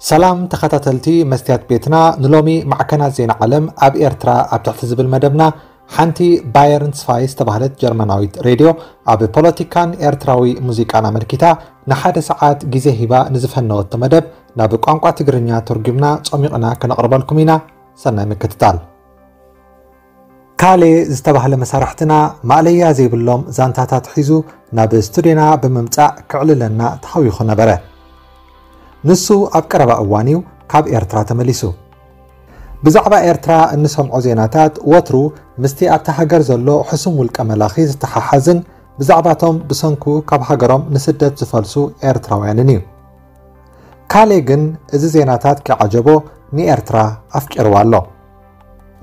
ሰላም ተኸታተልቲ መስትያት ቤትና፣ ንሎሚ ማዕከናት ዜና ዓለም ኣብ ኤርትራ ኣብ ትሕቲ ዝብል መደብና፣ ሓንቲ ባየርን ስፋይ ዝተባህለት ጀርመናዊት ሬድዮ ኣብ ፖለቲካን ኤርትራዊ ሙዚቃን ኣመልኪታ ንሓደ ሰዓት ግዜ ሂባ ንዝፈነወቶ መደብ ናብ ቋንቋ ትግርኛ ተርጒምና ጾሚቕና ከነቕርበልኩም ኢና። ሰናይ ምክትታል። ካሌ ዝተባህለ መሳርሕትና ማእለያ ዘይብሎም ዛንታታት ሒዙ ናብ ስቱድዮና ብምምጻእ ክዕልለና ተሃዊኹ ነበረ። ንሱ ኣብ ቀረባ እዋን እዩ ካብ ኤርትራ ተመሊሱ። ብዛዕባ ኤርትራ እንሰምዖ ዜናታት ወትሩ ምስቲ ኣብታ ሃገር ዘሎ ሕሱም ውልቀ መላኺ ዝተሓሓዝን ብዛዕባቶም ብሰንኩ ካብ ሃገሮም ንስደት ዝፈልሱ ኤርትራውያንን እዩ። ካሌ ግን እዚ ዜናታት ከይዓጀቦ ንኤርትራ ኣፍቂርዋ ኣሎ።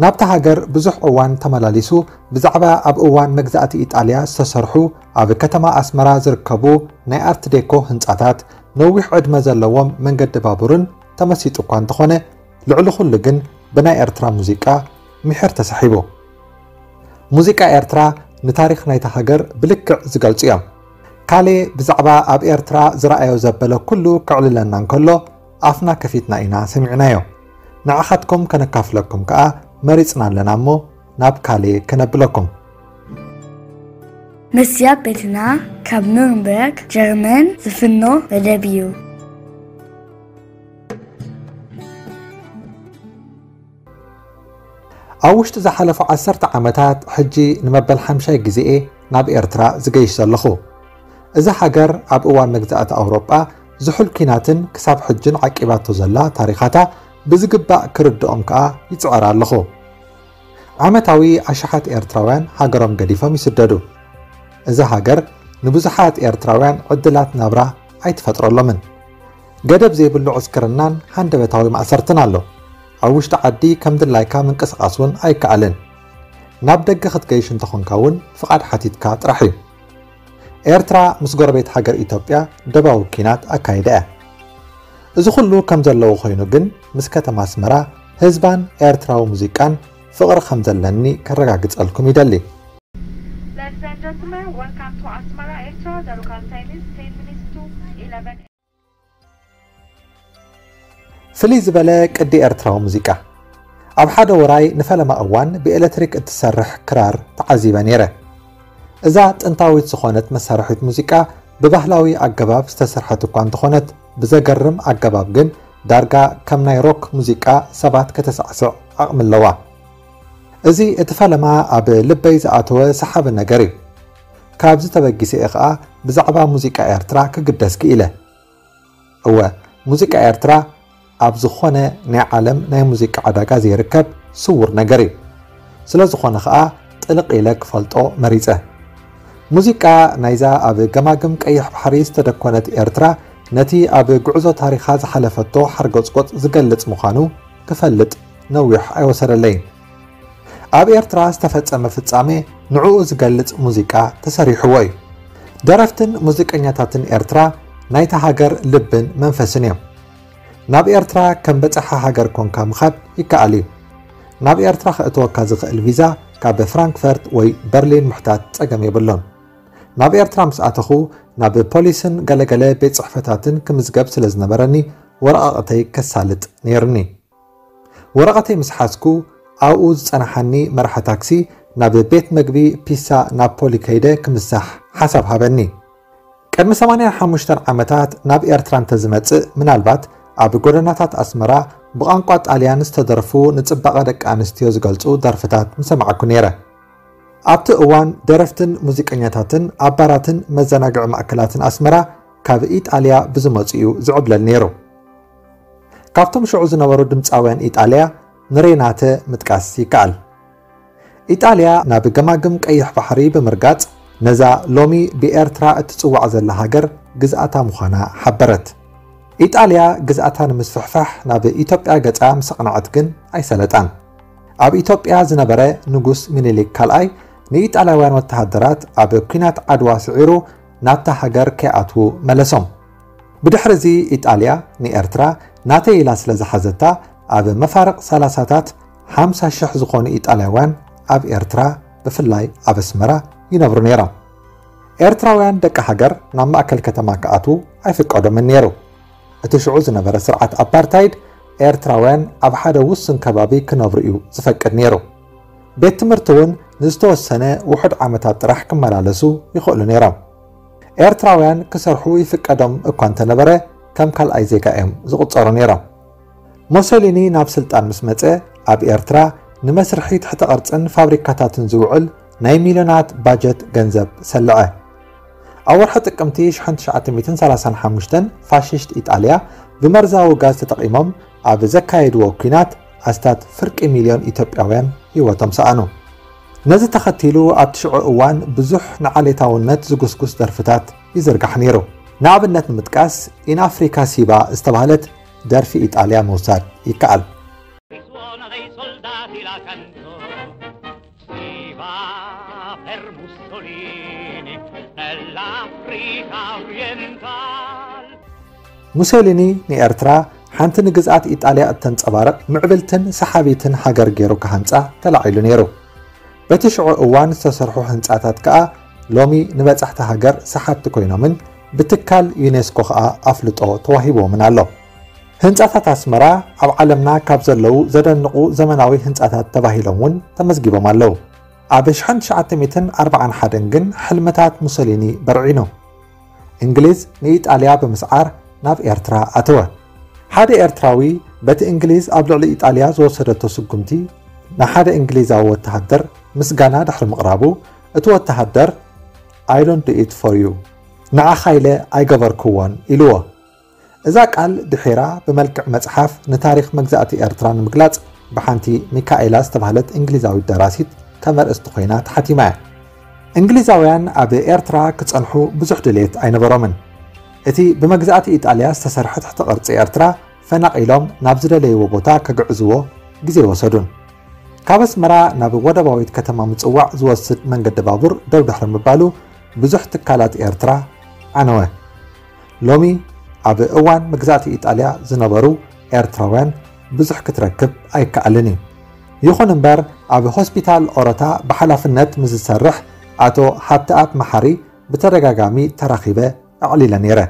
ናብታ ሃገር ብዙሕ እዋን ተመላሊሱ ብዛዕባ ኣብ እዋን መግዛእቲ ኢጣልያ ዝተሰርሑ ኣብ ከተማ ኣስመራ ዝርከቡ ናይ ኣርት ዴኮ ህንጻታት፣ ነዊሕ ዕድመ ዘለዎም መንገዲ ባቡርን ተመሲጡ እኳ እንተኾነ፣ ልዕሊ ኩሉ ግን ብናይ ኤርትራ ሙዚቃ ምሒር ተሳሒቡ። ሙዚቃ ኤርትራ ንታሪኽ ናይታ ሃገር ብልክዕ ዝገልጹ እዮም። ካሌ ብዛዕባ ኣብ ኤርትራ ዝረኣዮ ዘበለ ኩሉ ከዕልለና እንከሎ ኣፍና ከፊትና ኢና ሰሚዕናዮ። ንዓኻትኩም ከነካፍለኩም ከኣ መሪጽና ኣለና እሞ ናብ ካሌ ከነብለኩም። መስያ ቤትና ካብ ኑርንበርግ ጀርመን ዝፍኖ መደብ እዩ። ኣብ ውሽጢ ዝሓለፉ ዓሰርተ ዓመታት ሕጂ ንመበል ሓምሻይ ግዜኤ ናብ ኤርትራ ዝገይሽ ዘለኹ። እዛ ሃገር ኣብ እዋን መግዛእቲ ኣውሮጳ ዝሑል ኲናትን ክሳብ ሕጅን ዓቂባቶ ዘላ ታሪኻታ ብዝግባእ ክርድኦም ከኣ ይጽዕር ኣለኹ። ዓመታዊ ኣሽሓት ኤርትራውያን ሃገሮም ገዲፎም ይስደዱ። እዛ ሃገር ንብዙሓት ኤርትራውያን ዕድላት ናብራ ኣይትፈጥረሎምን። ገደብ ዘይብሉ ዕስክርናን ሃንደበታዊ ማእሰርትን ኣሎ። ኣብ ውሽጢ ዓዲ ከም ድላይካ ምንቅስቓስ እውን ኣይከኣልን። ናብ ደገ ክትገይሽ እንተኾንካ እውን ፍቓድ ሓቲትካ ጥራሕ እዩ። ኤርትራ ምስ ጎረቤት ሃገር ኢትዮጵያ ደባዊ ኲናት ኣካይዳ እያ። እዚ ኩሉ ከም ዘለዎ ኮይኑ ግን ምስ ከተማ ኣስመራ ህዝባን ኤርትራዊ ሙዚቃን ፍቕሪ ከም ዘለኒ ከረጋግጸልኩም ይደሊ። Ladies and gentlemen, welcome to Asmara, Eritrea. The local time is ten minutes to eleven. ፍልይ ዝበለ ቅዲ ኤርትራዊ ሙዚቃ። ኣብ ሓደ ውራይ ንፈለማ እዋን ብኤሌክትሪክ እትሰርሕ ክራር ተዓዚበ ነይረ። እዛ ጥንታዊት ዝኾነት መሳርሒት ሙዚቃ ብባህላዊ ኣገባብ ዝተሰርሐት እኳ እንተኾነት፣ ብዘገርም ኣገባብ ግን ዳርጋ ከም ናይ ሮክ ሙዚቃ ሰባት ከተሳዕስዕ ዓቕሚ ኣለዋ። እዚ እቲ ፈለማ ኣብ ልበይ ዝኣተወ ሰሓቢ ነገር እዩ። ካብዚ ተበጊሰ እየ ኸኣ ብዛዕባ ሙዚቃ ኤርትራ ክግደስ ክኢለ። እወ፣ ሙዚቃ ኤርትራ ኣብ ዝኾነ ናይ ዓለም ናይ ሙዚቃ ዕዳጋ ዘይርከብ ስዉር ነገር እዩ። ስለ ዝኾነ ኸኣ ጥልቕ ኢለ ክፈልጦ መሪጸ። ሙዚቃ ናይዛ ኣብ ገማግም ቀይሕ ባሕሪ ዝተደኮነት ኤርትራ ነቲ ኣብ ጉዕዞ ታሪኻ ዝሓለፈቶ ሓርጎጽጎጽ ዝገልጽ ምዃኑ ክፈልጥ ነዊሕ ኣይወሰደለይን። ኣብ ኤርትራ ዝተፈጸመ ፍጻሜ ንዕኡ ዝገልጽ ሙዚቃ ተሰሪሕዎ እዩ። ደረፍትን ሙዚቀኛታትን ኤርትራ ናይታ ሃገር ልብን መንፈስን እዮም። ናብ ኤርትራ ከም በጻሒ ሃገር ኮንካ ምኻድ ይከኣል እዩ። ናብ ኤርትራ ከእትወካ ዝኽእል ቪዛ ካብ ፍራንክፈርት ወይ በርሊን ምሕታት ጸገም የብሉን። ናብ ኤርትራ ምስ ኣተኹ ናብ ፖሊስን ገለገለ ቤት ጽሕፈታትን ክምዝገብ ስለ ዝነበረኒ ወረቓቕተይ ከሳልጥ ነይሩኒ። ወረቐተይ ምስ ሓዝኩ ኣብኡ ዝጸናሓኒ መራሒ ታክሲ ናብ ቤት መግቢ ፒሳ ናፖሊ ከይደ ክምሳሕ ሓሳብ ሃበኒ። ቅድሚ ሰማንያን ሓሙሽተን ዓመታት ናብ ኤርትራ እንተዝመጽእ ምናልባት ኣብ ጎደናታት ኣስመራ ብቋንቋ ጣልያን ዝተደርፉ ንጽባቐ ደቂ ኣንስትዮ ዝገልጹ ደርፍታት ምሰማዕኩ ነይረ። ኣብቲ እዋን ደረፍትን ሙዚቀኛታትን ኣብ ባራትን መዘናግዒ ማእከላትን ኣስመራ ካብ ኢጣልያ ብዝመጹ እዩ ዝዕብለል ነይሩ። ካብቶም ሽዑ ዝነበሩ ድምጻውያን ኢጣልያ ንሬናተ ምጥቃስ ይከኣል። ኢጣልያ ናብ ገማግም ቀይሕ ባሕሪ ብምርጋጽ ነዛ ሎሚ ብኤርትራ እትጽዋዕ ዘላ ሃገር ግዝኣታ ምዃና ሓበረት። ኢጣልያ ግዝኣታ ንምስፍሕፋሕ ናብ ኢትዮጵያ ገጻ ምስ ኣቕንዐት ግን ኣይሰለጣን። ኣብ ኢትዮጵያ ዝነበረ ንጉስ ሚኒሊክ ካልኣይ ንኢጣልያውያን ወተሃደራት ኣብ ኲናት ዓድዋ ስዒሩ ናብታ ሃገር ከይኣትዉ መለሶም። ብድሕሪ እዚ ኢጣልያ ንኤርትራ ናተይ ኢላ ስለ ዝሓዘታ ኣብ መፋርቕ ሰላሳታት ሓምሳ ሽሕ ዝኾኑ ኢጣልያውያን ኣብ ኤርትራ ብፍላይ ኣብ ኣስመራ ይነብሩ ነይሮም። ኤርትራውያን ደቂ ሃገር ናብ ማእከል ከተማ ክኣትዉ ኣይፍቀዶምን ነይሩ። እቲ ሽዑ ዝነበረ ስርዓት ኣፓርታይድ ኤርትራውያን ኣብ ሓደ ውሱን ከባቢ ክነብሩ እዩ ዝፈቅድ ነይሩ። ቤት ትምህርቲ እውን ንዝተወሰነ ውሑድ ዓመታት ጥራሕ ክመላለሱ ይኽእሉ ነይሮም። ኤርትራውያን ክሰርሑ ይፍቀዶም እኳ እንተነበረ ከም ካልኣይ ዜጋ እዮም ዝቑጸሩ ነይሮም። ሞሶሊኒ ናብ ስልጣን ምስ መጸ ኣብ ኤርትራ ንመስርሒ ትሕተ ቅርጽን ፋብሪካታትን ዝውዕል ናይ ሚልዮናት ባጀት ገንዘብ ሰልዐ። ኣብ ወርሒ ጥቅምቲ ሽሕን ትሽዓተ ሚእትን ሰላሳን ሓሙሽተን ፋሽስት ኢጣልያ ብመርዛዊ ጋዝ ተጠቒሞም ኣብ ዘካየድዎ ኲናት ኣስታት ፍርቂ ሚልዮን ኢትዮጵያውያን ህይወቶም ሰኣኑ። ነዚ ተኸቲሉ ኣብቲ ሽዑ እዋን ብዙሕ ንዓሌታውነት ዝጉስጉስ ደርፍታት ይዝርጋሕ ነይሩ። ንኣብነት ንምጥቃስ ኢን ኣፍሪካ ሲባ ዝተባህለት ደርፊ ኢጣልያ ምውሳድ ይከኣል። Suono dei soldati la cantò. Si va per Mussolini nell'Africa orientale. ሙሴሊኒ ንኤርትራ ሓንቲ ንግዝኣት ኢጣልያ እተንጸባርቕ ምዕብልትን ሰሓቢትን ሃገር ገይሩ ክሃንጻ ተላዒሉ ነይሩ። በቲ ሽዑ እዋን ዝተሰርሑ ህንጻታት ከኣ ሎሚ ንበጻሕቲ ሃገር ሰሓብቲ ኮይኖምን ብትካል ዩኔስኮ ከኣ ኣፍልጦ ተዋሂብዎምን ኣሎ። ህንጻታት ኣስመራ ኣብ ዓለምና ካብ ዘለዉ ዘደንቑ ዘመናዊ ህንጻታት ተባሂሎም እውን ተመዝጊቦም ኣለዉ። ኣብ ሽሕን ትሽዓተ ሚእትን ኣርባዓን ሓደን ግን ሕልምታት ሙሶሊኒ በርዒኑ። እንግሊዝ ንኢጣልያ ብምስዓር ናብ ኤርትራ ኣተወ። ሓደ ኤርትራዊ በቲ እንግሊዝ ኣብ ልዕሊ ኢጣልያ ዝወሰደቶ ስጉምቲ ንሓደ እንግሊዛዊ ወተሃደር ምስጋና ድሕሪ ምቕራቡ፣ እቲ ወተሃደር I don't do it for you፣ ንዓኻ ኢለ ኣይገበርክዎን ኢልዎ። እዛ ቃል ድሒራ ብመልክዕ መጽሓፍ ንታሪኽ መግዛእቲ ኤርትራ ንምግላጽ ብሓንቲ ሚካኤላ ዝተባህለት እንግሊዛዊት ደራሲት ከም ኣርእስቲ ኮይና ተሓቲማ እያ። እንግሊዛውያን ኣብ ኤርትራ ክጸንሑ ብዙሕ ድሌት ኣይነበሮምን። እቲ ብመግዛእቲ ኢጣልያ ዝተሰርሐ ትሕቲ ቅርጺ ኤርትራ ፈናቒሎም ናብ ዝደለይዎ ቦታ ከግዕዝዎ ግዜ ኣይወሰዱን። ካብ ኣስመራ ናብ ወደባዊት ከተማ ምጽዋዕ ዝወስድ መንገዲ ባቡር ደው ድሕሪ ምባሉ ብዙሕ ትካላት ኤርትራ ዓነወ። ሎሚ ኣብ እዋን መግዛእቲ ኢጣልያ ዝነበሩ ኤርትራውያን ብዙሕ ክትረክብ ኣይከኣልን እዩ። ይኹን እምበር ኣብ ሆስፒታል ኦሮታ ብሓላፍነት ምስ ዝሰርሕ ኣቶ ሃብተኣብ መሓሪ ብተደጋጋሚ ተራኺበ ኣዕሊለ ነይረ።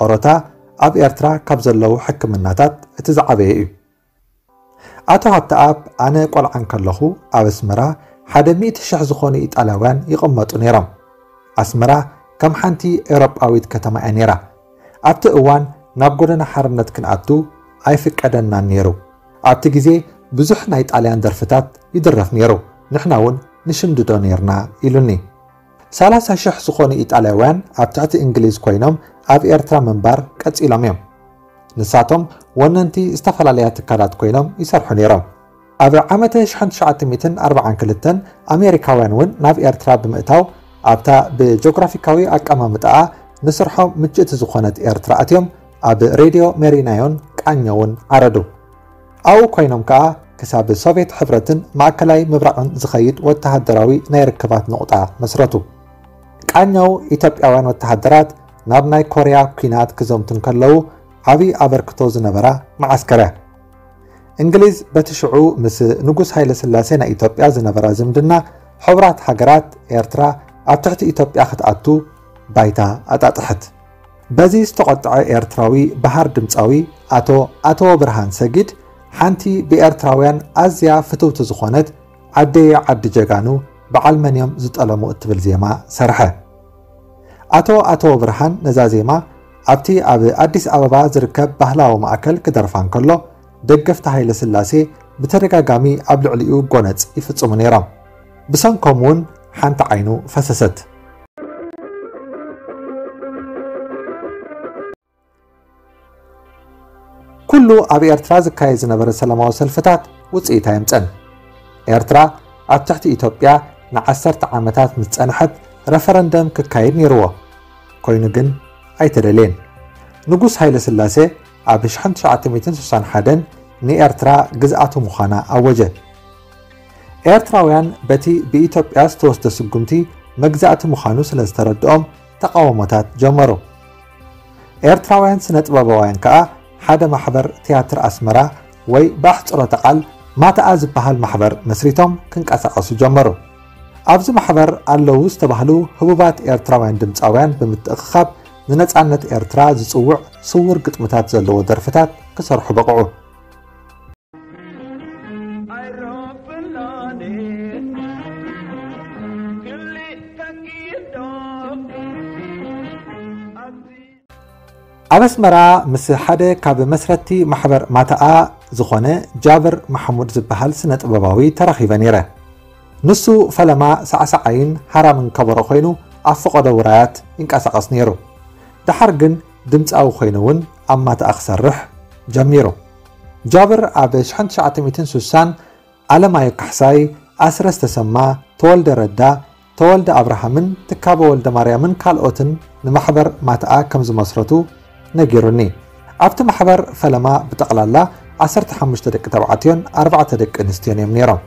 ኦሮታ ኣብ ኤርትራ ካብ ዘለዉ ሕክምናታት እቲ ዝዓበየ እዩ። ኣቶ ሃብተኣብ ኣነ ቆልዓ እንከለኹ ኣብ ኣስመራ ሓደ ሚእቲ ሽሕ ዝኾኑ ኢጣልያውያን ይቕመጡ ነይሮም። ኣስመራ ከም ሓንቲ ኤውሮጳዊት ከተማ እያ ነይራ። ኣብቲ እዋን ናብ ጎደና ሓርነት ክንኣቱ ኣይፍቀደናን ነይሩ። ኣብቲ ግዜ ብዙሕ ናይ ጣልያን ደርፍታት ይድረፍ ነይሩ፣ ንሕና እውን ንሽምድዶ ነይርና ኢሉኒ። ሰላሳ ሽሕ ዝኾኑ ኢጣልያውያን ኣብ ትሕቲ እንግሊዝ ኮይኖም ኣብ ኤርትራ ምንባር ቀጺሎም እዮም። ንሳቶም ወነንቲ ዝተፈላለያ ትካላት ኮይኖም ይሰርሑ ነይሮም። ኣብ ዓመተ ሽሕን ትሽዓተ ሚእትን ኣርባዓን ክልተን ኣሜሪካውያን እውን ናብ ኤርትራ ብምእታው ኣብታ ብጂኦግራፊካዊ ኣቀማምጣኣ ንስርሖም ምችእቲ ዝኾነት ኤርትራ ኣትዮም ኣብ ሬድዮ ሜሪናዮን ቃኘውን ዓረዱ። ኣብኡ ኮይኖም ከኣ ክሳብ ሶቭየት ሕብረትን ማእከላይ ምብራቕን ዝኸይድ ወተሃደራዊ ናይ ርክባት ነቑጣ መስረቱ። ቃኘው ኢትዮጵያውያን ወተሃደራት ናብ ናይ ኮርያ ኲናት ክዘምቱ እንከለዉ ዓብዪ ኣበርክቶ ዝነበራ መዓስከር እያ። እንግሊዝ በቲ ሽዑ ምስ ንጉስ ሃይለ ስላሴ ናይ ኢትዮጵያ ዝነበራ ዝምድና ሕቡራት ሃገራት ኤርትራ ኣብ ትሕቲ ኢትዮጵያ ክትኣቱ ባይታ ኣጣጥሐት። በዚ ዝተቖጥዐ ኤርትራዊ በሃር ድምጻዊ ኣቶ ኣተወ ብርሃን ሰጊድ ሓንቲ ብኤርትራውያን ኣዝያ ፍትውቲ ዝኾነት ዓደየ ዓዲ ጀጋኑ በዓል መን እዮም ዝጠለሙ እትብል ዜማ ሰርሐ። ኣቶ ኣተወ ብርሃን ነዛ ዜማ ኣብቲ ኣብ ኣዲስ ኣበባ ዝርከብ ባህላዊ ማእከል ክደርፋ እንከሎ ደገፍቲ ሃይለ ስላሴ ብተደጋጋሚ ኣብ ልዕሊኡ ጎነጽ ይፍጽሙ ነይሮም። ብሰንኮም እውን ሓንቲ ዓይኑ ፈሰሰት። ኩሉ ኣብ ኤርትራ ዝካየድ ዝነበረ ሰላማዊ ሰልፍታት ውጽኢት ኣየምጸን። ኤርትራ ኣብ ትሕቲ ኢትዮጵያ ንዓሰርተ ዓመታት ምስ ጸንሐት ረፈረንደም ክካየድ ነይርዎ። ኮይኑ ግን ኣይተደልየን። ንጉስ ሃይለ ስላሴ ኣብ ሽሕን ትሽዓተ ሚእትን ስሳን ሓደን ንኤርትራ ግዝኣቱ ምዃና ኣወጀ። ኤርትራውያን በቲ ብኢትዮጵያ ዝተወስደ ስጉምቲ መግዛእቲ ምዃኑ ስለ ዝተረድኦም ተቓውሞታት ጀመሩ። ኤርትራውያን ስነ ጥበባውያን ከኣ ሓደ ማሕበር ትያትር ኣስመራ ወይ ብኣሕጽሮተ ቃል ማትኣ ዝበሃል ማሕበር መስሪቶም ክንቀሳቐሱ ጀመሩ። ኣብዚ ማሕበር ኣለዉ ዝተባህሉ ህቡባት ኤርትራውያን ድምጻውያን ብምትእኽኻብ ንነጻነት ኤርትራ ዝጽውዕ ስውር ግጥምታት ዘለዎ ደርፍታት ክሰርሑ በቕዑ። ኣብ ኣስመራ ምስ ሓደ ካብ መስረትቲ ማሕበር ማታኣ ዝኾነ ጃብር ማሕሙድ ዝበሃል ስነ ጥበባዊ ተራኺበ ነይረ። ንሱ ፈለማ ሳዕሳዓይን ሃራምን ከበሮ ኮይኑ ኣብ ፈቐዶ ውራያት ይንቀሳቐስ ነይሩ። ደሓር ግን ድምጻዊ ኮይኑ እውን ኣብ ማታኣ ክሰርሕ ጀሚሩ። ጃብር ኣብ ሽሕን ትሽዓተ ሚእትን ስሳን ኣለማዮ ካሕሳይ፣ ኣስረስ ተሰማ፣ ተወልደ ረዳ፣ ተወልደ ኣብርሃምን ትካቦ ወልደ ማርያምን ካልኦትን ንማሕበር ማትኣ ከም ዝመስረቱ ነጊሩኒ። ኣብቲ ማሕበር ፈለማ ብጠቕላላ ዓሰርተ ሓሙሽተ ደቂ ተባዕትዮን ኣርባዕተ ደቂ ኣንስትዮን እዮም ነይሮም።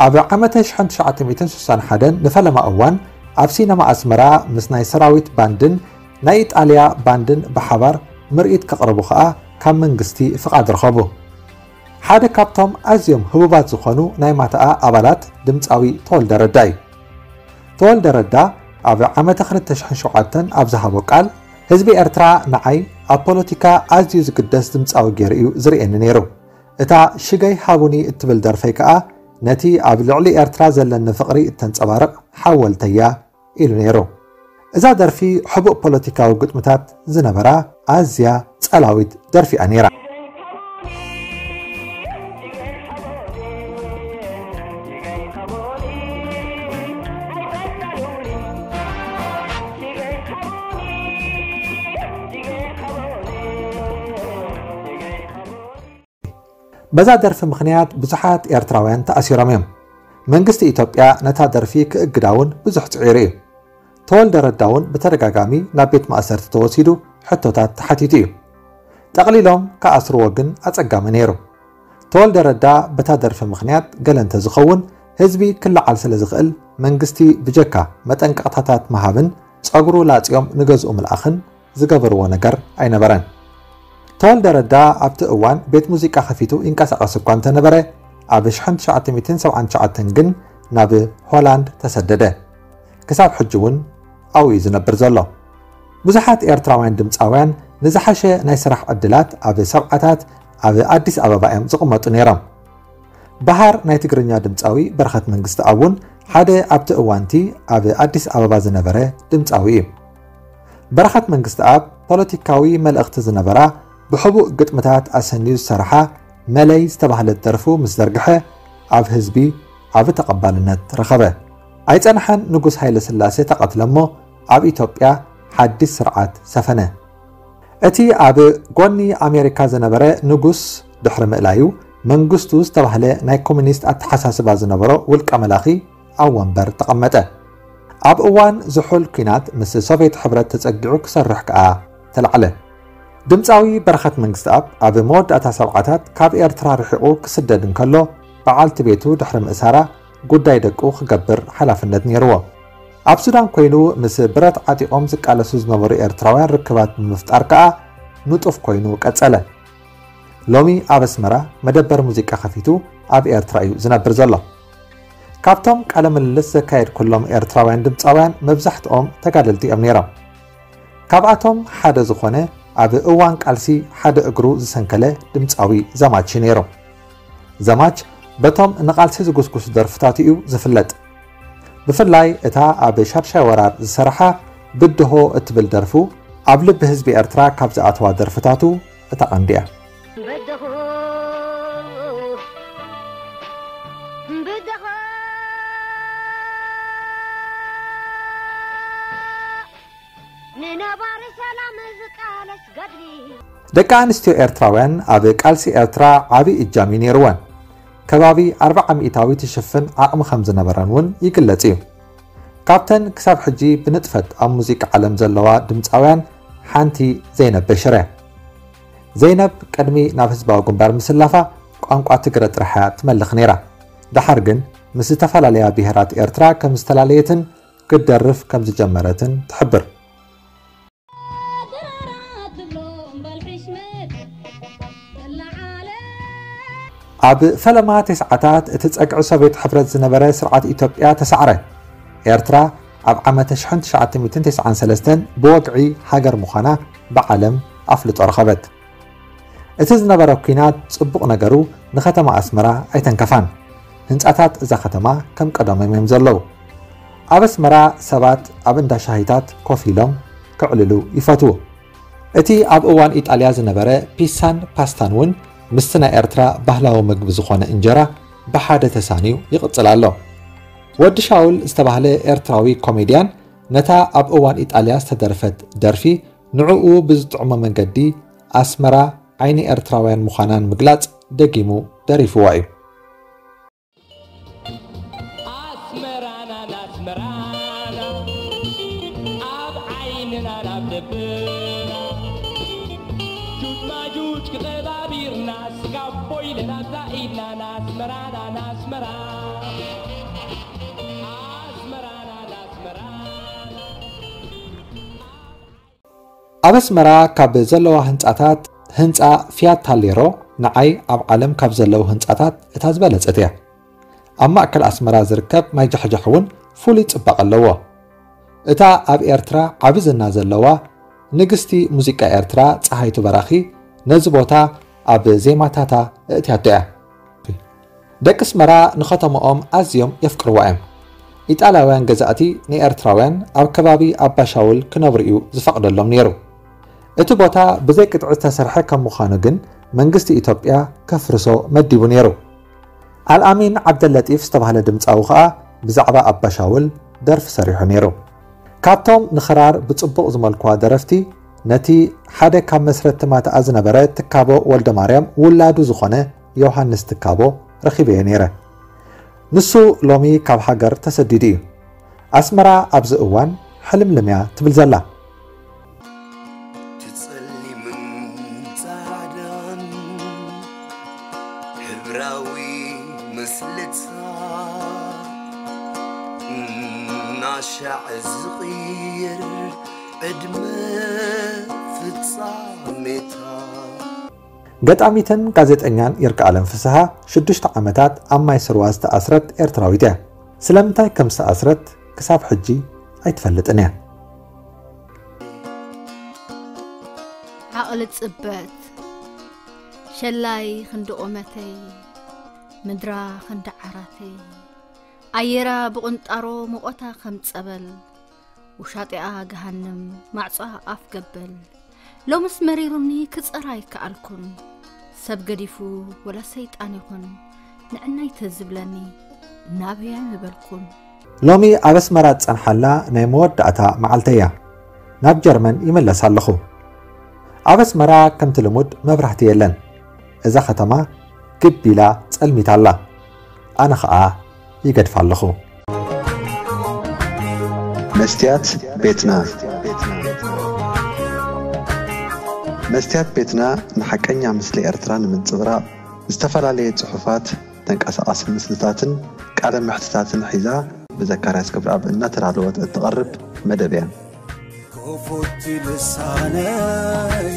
ኣብ ዓመተ ሽሕን ትሽዓተ ሚእትን ስሳን ሓደን ንፈለማ እዋን ኣብ ሲነማ ኣስመራ ምስ ናይ ሰራዊት ባንድን ናይ ኢጣልያ ባንድን ብሓባር ምርኢት ከቕርቡ ከኣ ካብ መንግስቲ ፍቓድ ረኸቡ። ሓደ ካብቶም ኣዝዮም ህቡባት ዝኾኑ ናይ ማትኣ ኣባላት ድምጻዊ ተወልደ ረዳ እዩ። ተወልደ ረዳ ኣብ ዓመተ ክልተ ሽሕን ሸውዓተን ኣብ ዝሃቦ ቃል፣ ህዝቢ ኤርትራ ንዓይ ኣብ ፖለቲካ ኣዝዩ ዝግደስ ድምጻዊ ገይሩ እዩ ዝርእየኒ ነይሩ። እታ ሽገይ ሃቡኒ እትብል ደርፈይ ከኣ ነቲ ኣብ ልዕሊ ኤርትራ ዘለኒ ፍቕሪ እተንጸባርቕ ሓወልተያ ኢሉ ነይሩ። እዛ ደርፊ ሕቡእ ፖለቲካዊ ግጥምታት ዝነበራ ኣዝያ ጸላዊት ደርፊ እያ ነይራ። በዛ ደርፊ ምኽንያት ብዙሓት ኤርትራውያን ተኣሲሮም እዮም። መንግስቲ ኢትዮጵያ ነታ ደርፊ ክእግዳ እውን ብዙሕ ጽዒሩ እዩ። ተወልደ ረዳ እውን ብተደጋጋሚ ናብ ቤት ማእሰርቲ ተወሲዱ ሕቶታት ተሓቲቱ እዩ። ጠቕሊሎም ክኣስርዎ ግን ኣጸጋሚ ነይሩ። ተወልደ ረዳ በታ ደርፊ ምኽንያት ገለ እንተዝኸውን ህዝቢ ክለዓል ስለ ዝኽእል መንግስቲ ብጀካ መጠንቀቕታታት ምሃብን ጸጉሩ ላጽዮም ንገዝኡ ምልኣኽን ዝገበርዎ ነገር ኣይነበረን። ተወልደ ረዳ ኣብቲ እዋን ቤት ሙዚቃ ከፊቱ ይንቀሳቐስ እኳ እንተነበረ፣ ኣብ ሽሕን ትሽዓተ ሚእትን ሰብዓን ትሽዓተን ግን ናብ ሆላንድ ተሰደደ። ክሳብ ሕጂ እውን ኣብኡ እዩ ዝነብር ዘሎ። ብዙሓት ኤርትራውያን ድምጻውያን ንዝሓሸ ናይ ስራሕ ዕድላት ኣብ ሰብዓታት ኣብ ኣዲስ ኣበባ እዮም ዝቕመጡ ነይሮም። በሃር ናይ ትግርኛ ድምጻዊ በረኸት መንግስተኣብ እውን ሓደ ኣብቲ እዋንቲ ኣብ ኣዲስ ኣበባ ዝነበረ ድምጻዊ እዩ። በረኸት መንግስተኣብ ፖለቲካዊ መልእኽቲ ዝነበራ ብሕቡእ ግጥምታት ኣሰንዩ ዝሰርሓ መለይ ዝተባህለት ደርፉ ምስ ዘርግሐ ኣብ ህዝቢ ዓቢ ተቐባልነት ረኸበ። ኣይጸንሐን ንጉስ ሃይለ ስላሴ ተቐትለ እሞ ኣብ ኢትዮጵያ ሓድሽ ስርዓት ሰፈነ። እቲ ኣብ ጎኒ ኣሜሪካ ዝነበረ ንጉስ ድሕሪ ምእላዩ መንግስቱ ዝተባህለ ናይ ኮሙኒስት ኣተሓሳስባ ዝነበሮ ውልቀ መላኺ ኣብ ወንበር ተቐመጠ። ኣብ እዋን ዝሑል ኲናት ምስ ሶቭየት ሕብረት ተጸጊዑ ክሰርሕ ከኣ ተላዕለ። ድምጻዊ በረኸት መንግስተኣብ ኣብ መወዳእታ ሰብዓታት ካብ ኤርትራ ርሒቑ ክስደድ እንከሎ በዓልቲ ቤቱ ድሕሪ ምእሳራ ጉዳይ ደቁ ክገብር ሓላፍነት ነይርዎ። ኣብ ሱዳን ኮይኑ ምስ ብረት ዓጢቖም ዝቃለሱ ዝነበሩ ኤርትራውያን ርክባት ብምፍጣር ከኣ ንጡፍ ኮይኑ ቀጸለ። ሎሚ ኣብ ኣስመራ መደበር ሙዚቃ ከፊቱ ኣብ ኤርትራ እዩ ዝነብር ዘሎ። ካብቶም ቃለ ምልልስ ዘካየድኩሎም ኤርትራውያን ድምጻውያን መብዛሕትኦም ተጋደልቲ እዮም ነይሮም። ካብኣቶም ሓደ ዝኾነ ኣብ እዋን ቃልሲ ሓደ እግሩ ዝሰንከለ ድምጻዊ ዘማች እዩ ነይሩ። ዘማች በቶም ንቃልሲ ዝጉስጉሱ ደርፍታቱ እዩ ዝፍለጥ። ብፍላይ እታ ኣብ ሻድሻይ ወራር ዝሰርሓ ብድሆ እትብል ደርፉ ኣብ ልቢ ህዝቢ ኤርትራ ካብ ዝኣተዋ ደርፍታቱ እታ ቀንዲ እያ። በደኹ፣ በደኹ፣ ንነባሪ ሰላም ዝቃለስ ገድሊ። ደቂ ኣንስትዮ ኤርትራውያን ኣብ ቃልሲ ኤርትራ ዓቢ እጃም እዩ ነይርወን። ከባቢ ኣርብዓ ሚእታዊት ትሽፍን ዓቕሚ ከም ዝነበረን እውን ይግለጽ እዩ። ካብተን ክሳብ ሕጂ ብንጥፈት ኣብ ሙዚቃ ዓለም ዘለዋ ድምጻውያን ሓንቲ ዘይነብ በሽር እያ። ዘይነብ ቅድሚ ናብ ህዝባዊ ግንባር ምስላፋ ቋንቋ ትግረ ጥራሕ እያ ትመልኽ ነይራ። ደሓር ግን ምስ ዝተፈላለያ ብሄራት ኤርትራ ከም ዝተፈላለየትን ክትደርፍ ከም ዝጀመረትን ትሕብር። ኣብ ፈለማ ተስዓታት እቲ ጸግዒ ሶቭየት ሕብረት ዝነበረ ስርዓት ኢትዮጵያ ተሳዕረ። ኤርትራ ኣብ ዓመተ ሽሕን ትሽዓተ ሚእትን ተስዓን ሰለስተን ብወግዒ ሃገር ምዃና ብዓለም ኣፍልጦ ረኸበት። እቲ ዝነበረ ኲናት ጽቡቕ ነገሩ ንከተማ ኣስመራ ኣይተንከፋን። ህንጻታት እዛ ከተማ ከም ቀደሞም እዮም ዘለዉ። ኣብ ኣስመራ ሰባት ኣብ እንዳ ሻሂታት ኮፍ ኢሎም ክዕልሉ ይፈትዉ። እቲ ኣብ እዋን ኢጣልያ ዝነበረ ፒሳን ፓስታን እውን ምስቲ ናይ ኤርትራ ባህላዊ ምግቢ ዝኾነ እንጀራ ብሓደ ተሳንዩ ይቕጽል ኣሎ። ወዲ ሻውል ዝተባህለ ኤርትራዊ ኮሜድያን ነታ ኣብ እዋን ኢጣልያ ዝተደርፈት ደርፊ ንዕኡ ብዝጥዕሞ መንገዲ ኣስመራ ዓይኒ ኤርትራውያን ምዃናን ምግላጽ ደጊሙ ደሪፍዋ እዩ። ኣስመራና ናስመራና ኣብ ዓይንና ናብ ልብና ጁጅ ማጁጅ ክቐባቢርና ስጋቦ ኢለን ኣብዛ ኢድና ናስመራና ናስመራ ኣስመራና ናስመራና ኣብ ኣስመራ ካብ ዘለዋ ህንጻታት ህንጻ ፊያት ታሌሮ ንዓይ ኣብ ዓለም ካብ ዘለዉ ህንጻታት እታ ዝበለጸት እያ። ኣብ ማእከል ኣስመራ ዝርከብ ማይ ጃሕጃሕ እውን ፍሉይ ጽባቐ ኣለዎ። እታ ኣብ ኤርትራ ዓቢ ዝና ዘለዋ ንግስቲ ሙዚቃ ኤርትራ ጸሃይቱ በራኺ ነዚ ቦታ ኣብ ዜማታታ እእትያቶ እያ። ደቂ ኣስመራ ንኸተማኦም ኣዝዮም የፍቅርዋ እዮም። ኢጣልያውያን ገዛእቲ ንኤርትራውያን ኣብ ከባቢ ኣባሻውል ክነብሩ እዩ ዝፈቕደሎም ነይሩ። እቲ ቦታ ብዘይ ቅጥዒ ዝተሰርሐ ከም ምዃኑ ግን መንግስቲ ኢትዮጵያ ከፍርሶ መዲቡ ነይሩ። ኣልኣሚን ዓብደለጢፍ ዝተባህለ ድምጻዊ ኸኣ ብዛዕባ ኣባሻውል ደርፊ ሰሪሑ ነይሩ። ካብቶም ንኽራር ብጽቡቕ ዝመልክዋ ደረፍቲ ነቲ ሓደ ካብ መስረቲ ማትኣ ዝነበረ ትካቦ ወልደማርያም ውላዱ ዝኾነ ዮሃንስ ትካቦ ረኺበዮ ነይረ። ንሱ ሎሚ ካብ ሃገር ተሰዲዱ እዩ። ኣስመራ ኣብዚ እዋን ሕልምልም እያ ትብል ዘላ። ትጸሊምን ጻዕዳን ሕብራዊ ምስልታ እናሻዕ ዝቕይር ዕድመ ፍጻሜታ። ገጣሚትን ጋዜጠኛን ይርጋኣለም ፍስሃ ሽዱሽተ ዓመታት ኣብ ማይ ስርዋ ዝተኣስረት ኤርትራዊት እያ። ስለምንታይ ከም ዝተኣስረት ክሳብ ሕጂ ኣይትፈልጥን እያ። ዓቕሊ ጽበት ሸላይ ክንዲ ቁመተይ ምድራ ክንዲ ዓራተይ ኣየራ ብቕንጣሮ ሙቐታ ከም ጸበል ውሻጢኣ ገሃንም ማዕጾኣ ኣፍ ገበል ሎምስ መሪሩኒ ክጸራ ኣይከኣልኩን ሰብ ገዲፉ ወላ ሰይጣን ይኹን ንዕናይ ተዝብለኒ ናበያ ምበልኩን። ሎሚ ኣብ ኣስመራ ዝጸንሓላ ናይ መወዳእታ መዓልተይ እያ። ናብ ጀርመን ይምለስ ኣለኹ። ኣብ ኣስመራ ከምቲ ልሙድ መብራህቲ የለን። እዛ ከተማ ግብ ኢላ ጸልሚታ ኣላ። ኣነ ኸኣ ይገድፋ ኣለኹ። መስትያት ቤትና። መስትያት ቤትና ንሓቀኛ ምስሊ ኤርትራ ንምንጽብራቕ ዝተፈላለየ ጽሑፋት፣ ተንቀሳቓሲ ምስልታትን ቃለ መሕትታትን ሒዛ ብዘካርያስ ክብረኣብ እናተዳለወት እትቐርብ መደብ እያ። ክፉት ልሳነይ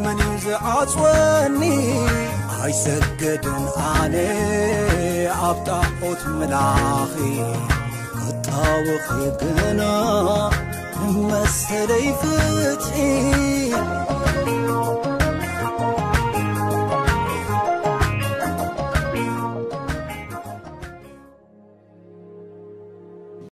መን እዩ ዝዓጽወኒ? ኣይሰገድን ኣነ ኣብ ጣዖት ምላኺ ክጣወኺ ግና ንመሰለይ ፍትሒ